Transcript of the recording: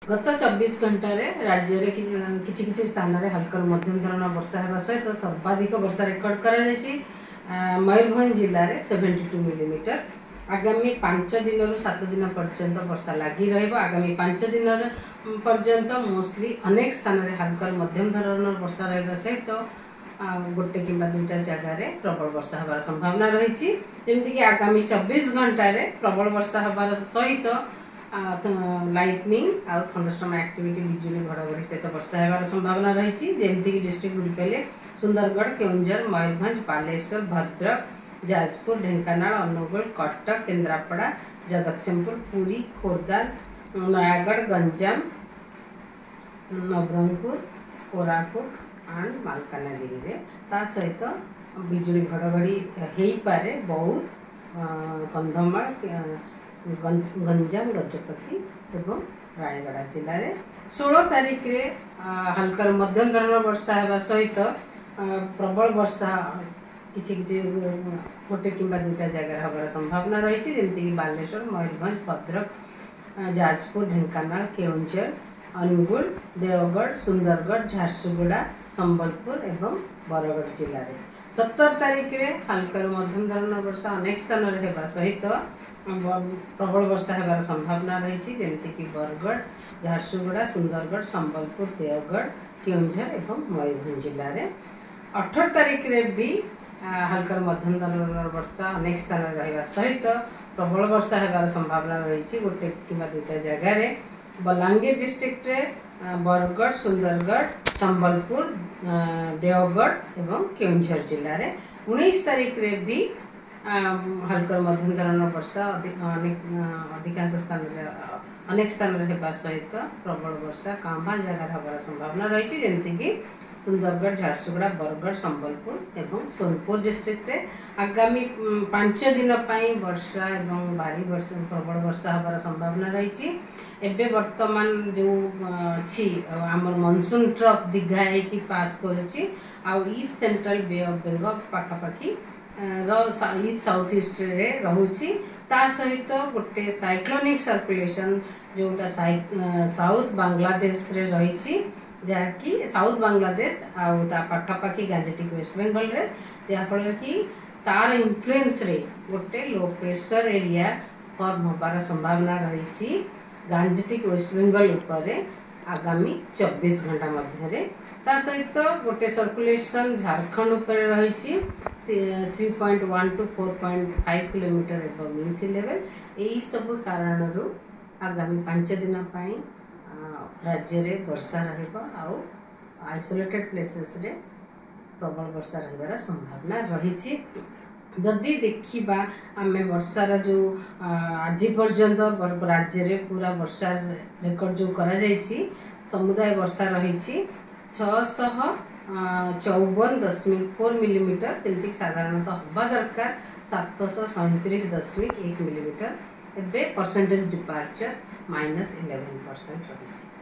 ଗତ 24 ଘଣ୍ଟାରେ ରାଜ୍ୟରେ କିଛି କିଛି ସ୍ଥାନରେ ହାଲକାରୁ ମଧ୍ୟମ ଧରଣର ବର୍ଷା ହେବା ସହିତ ସର୍ବାଧିକ ବର୍ଷା ରେକର୍ଡ କରାଯାଇଛି ମୟୂରଭଞ୍ଜ ଜିଲ୍ଲାରେ 72 ମିଲିମିଟର। ଆଗାମୀ 5 ଦିନରୁ 7 ଦିନ ପର୍ଯ୍ୟନ୍ତ ବର୍ଷା ଲାଗି ରହିବ। ଆଗାମୀ 5 ଦିନ ପର୍ଯ୍ୟନ୍ତ ମୋଷ୍ଟଲି ଅନେକ ସ୍ଥାନରେ ହାଲକାରୁ ମଧ୍ୟମ ଧରଣର ବର୍ଷା ରହିବା ସହିତ ଗୋଟେ କିମ୍ବା ଦୁଇଟା ଜାଗାରେ ପ୍ରବଳ ବର୍ଷା ହେବାର ସମ୍ଭାବନା ରହିଛି। ଯେମିତିକି ଆଗାମୀ 24 ଘଣ୍ଟାରେ ପ୍ରବଳ ବର୍ଷା ହେବାର ସହିତ ଲାଇଟନିଂ ଆଉ ଥଣ୍ଡରଷ୍ଟର୍ମ ଆକ୍ଟିଭିଟି, ବିଜୁଳି ଘଡ଼ଘଡ଼ି ସହିତ ବର୍ଷା ହେବାର ସମ୍ଭାବନା ରହିଛି। ଯେମିତିକି ଡିଷ୍ଟ୍ରିକ୍ଟ ଗୁଡ଼ିକ ହେଲେ ସୁନ୍ଦରଗଡ଼, କେଉଁଝର, ମୟୂରଭଞ୍ଜ, ବାଲେଶ୍ୱର, ଭଦ୍ରକ, ଯାଜପୁର, ଢେଙ୍କାନାଳ, ଅନୁଗୁଳ, କଟକ, କେନ୍ଦ୍ରାପଡ଼ା, ଜଗତସିଂହପୁର, ପୁରୀ, ଖୋର୍ଦ୍ଧା, ନୟାଗଡ଼, ଗଞ୍ଜାମ, ନବରଙ୍ଗପୁର, କୋରାପୁଟ ଆଣ୍ଡ ମାଲକାନଗିରିରେ। ତା ସହିତ ବିଜୁଳି ଘଡ଼ଘଡ଼ି ହେଇପାରେ ବୌଦ୍ଧ, କନ୍ଧମାଳ, ଗଞ୍ଜାମ, ଗଜପତି ଏବଂ ରାୟଗଡ଼ା ଜିଲ୍ଲାରେ। 16 ତାରିଖରେ ହାଲକାରୁ ମଧ୍ୟମ ଧରଣର ବର୍ଷା ହେବା ସହିତ ପ୍ରବଳ ବର୍ଷା କିଛି କିଛି ଗୋଟେ କିମ୍ବା ଦୁଇଟା ଜାଗାରେ ହେବାର ସମ୍ଭାବନା ରହିଛି। ଯେମିତିକି ବାଲେଶ୍ୱର, ମୟୂରଭଞ୍ଜ, ଭଦ୍ରକ, ଯାଜପୁର, ଢେଙ୍କାନାଳ, କେଉଁଝର, ଅନୁଗୁଳ, ଦେଓଗଡ଼, ସୁନ୍ଦରଗଡ଼, ଝାରସୁଗୁଡ଼ା, ସମ୍ବଲପୁର ଏବଂ ବରଗଡ଼ ଜିଲ୍ଲାରେ। 17 ତାରିଖରେ ହାଲକାରୁ ମଧ୍ୟମ ଧରଣର ବର୍ଷା ଅନେକ ସ୍ଥାନରେ ହେବା ସହିତ ପ୍ରବଳ ବର୍ଷା ହେବାର ସମ୍ଭାବନା ରହିଛି। ଯେମିତିକି ବରଗଡ଼, ଝାରସୁଗୁଡ଼ା, ସୁନ୍ଦରଗଡ଼, ସମ୍ବଲପୁର, ଦେଓଗଡ଼, କେଉଁଝର ଏବଂ ମୟୂରଭଞ୍ଜ ଜିଲ୍ଲାରେ। 18 ତାରିଖରେ ବି ହାଲକାରୁ ମଧ୍ୟମ ଧରଣର ବର୍ଷା ଅନେକ ସ୍ଥାନରେ ରହିବା ସହିତ ପ୍ରବଳ ବର୍ଷା ହେବାର ସମ୍ଭାବନା ରହିଛି ଗୋଟେ କିମ୍ବା ଦୁଇଟା ଜାଗାରେ, ବଲାଙ୍ଗୀର ଡିଷ୍ଟ୍ରିକ୍ଟରେ, ବରଗଡ଼, ସୁନ୍ଦରଗଡ଼, ସମ୍ବଲପୁର, ଦେଓଗଡ଼ ଏବଂ କେଉଁଝର ଜିଲ୍ଲାରେ। 19 ତାରିଖରେ ବି ହାଲକାରୁ ମଧ୍ୟମ ଧରଣର ବର୍ଷା ଅନେକ ଅଧିକାଂଶ ସ୍ଥାନରେ, ଅନେକ ସ୍ଥାନରେ ହେବା ସହିତ ପ୍ରବଳ ବର୍ଷା କାଁ ଭାଁ ଜାଗାରେ ହେବାର ସମ୍ଭାବନା ରହିଛି। ଯେମିତିକି ସୁନ୍ଦରଗଡ଼, ଝାରସୁଗୁଡ଼ା, ବରଗଡ଼, ସମ୍ବଲପୁର ଏବଂ ସୋନପୁର ଡିଷ୍ଟ୍ରିକ୍ଟରେ। ଆଗାମୀ 5 ଦିନ ପାଇଁ ବର୍ଷା ଏବଂ ଭାରି ବର୍ଷା, ପ୍ରବଳ ବର୍ଷା ହେବାର ସମ୍ଭାବନା ରହିଛି। ଏବେ ବର୍ତ୍ତମାନ ଯେଉଁ ଅଛି, ଆମର ମନସୁନ୍ ଟ୍ରଫ୍ ଦୀଘା ହେଇକି ପାସ୍ କରୁଛି ଆଉ ଇଷ୍ଟ ସେଣ୍ଟ୍ରାଲ ବେ ଅଫ୍ ବେଙ୍ଗଲ ପାଖାପାଖି ର ଇଷ୍ଟ ସାଉଥ ଇଷ୍ଟରେ ରହୁଛି। ତା ସହିତ ଗୋଟେ ସାଇକ୍ଲୋନିକ୍ ସର୍କୁଲେସନ୍ ଯେଉଁଟା ସାଉଥ ବାଂଲାଦେଶରେ ରହିଛି, ଯାହାକି ସାଉଥ ବାଂଲାଦେଶ ଆଉ ତା ପାଖାପାଖି ଗାଞ୍ଜେଟିକ୍ ୱେଷ୍ଟ ବେଙ୍ଗଲରେ, ଯାହାଫଳରେ କି ତାର ଇନଫ୍ଲୁଏନ୍ସରେ ଗୋଟେ ଲୋ ପ୍ରେସର ଏରିଆ ଫର୍ମ ହେବାର ସମ୍ଭାବନା ରହିଛି ଗାଞ୍ଜେଟିକ୍ ୱେଷ୍ଟ ବେଙ୍ଗଲ ଉପରେ ଆଗାମୀ 24 ଘଣ୍ଟା ମଧ୍ୟରେ। ତା ସହିତ ଗୋଟେ ସର୍କୁଲେସନ୍ ଝାଡ଼ଖଣ୍ଡ ଉପରେ ରହିଛି, 3.1 to 4.5 kilometer above mean sea level। ଏହିସବୁ କାରଣରୁ ଆଗାମୀ 5 ଦିନ ପାଇଁ ରାଜ୍ୟରେ ବର୍ଷା ରହିବ ଆଉ ଆଇସୋଲେଟେଡ୍ ପ୍ଲେସେସରେ ପ୍ରବଳ ବର୍ଷା ରହିବାର ସମ୍ଭାବନା ରହିଛି। ଯଦି ଦେଖିବା ଆମେ ବର୍ଷାର ଯେଉଁ ଆଜି ପର୍ଯ୍ୟନ୍ତ ରାଜ୍ୟରେ ପୁରା ବର୍ଷା ରେକର୍ଡ ଯେଉଁ କରାଯାଇଛି, ସମୁଦାୟ ବର୍ଷା ରହିଛି 654.4 ମିଲିମିଟର, ଯେମିତିକି ସାଧାରଣତଃ ହେବା ଦରକାର 737.1 ମିଲିମିଟର। ଏବେ ପରସେଣ୍ଟେଜ ଡିପାର୍ଚର -11% ରହିଛି।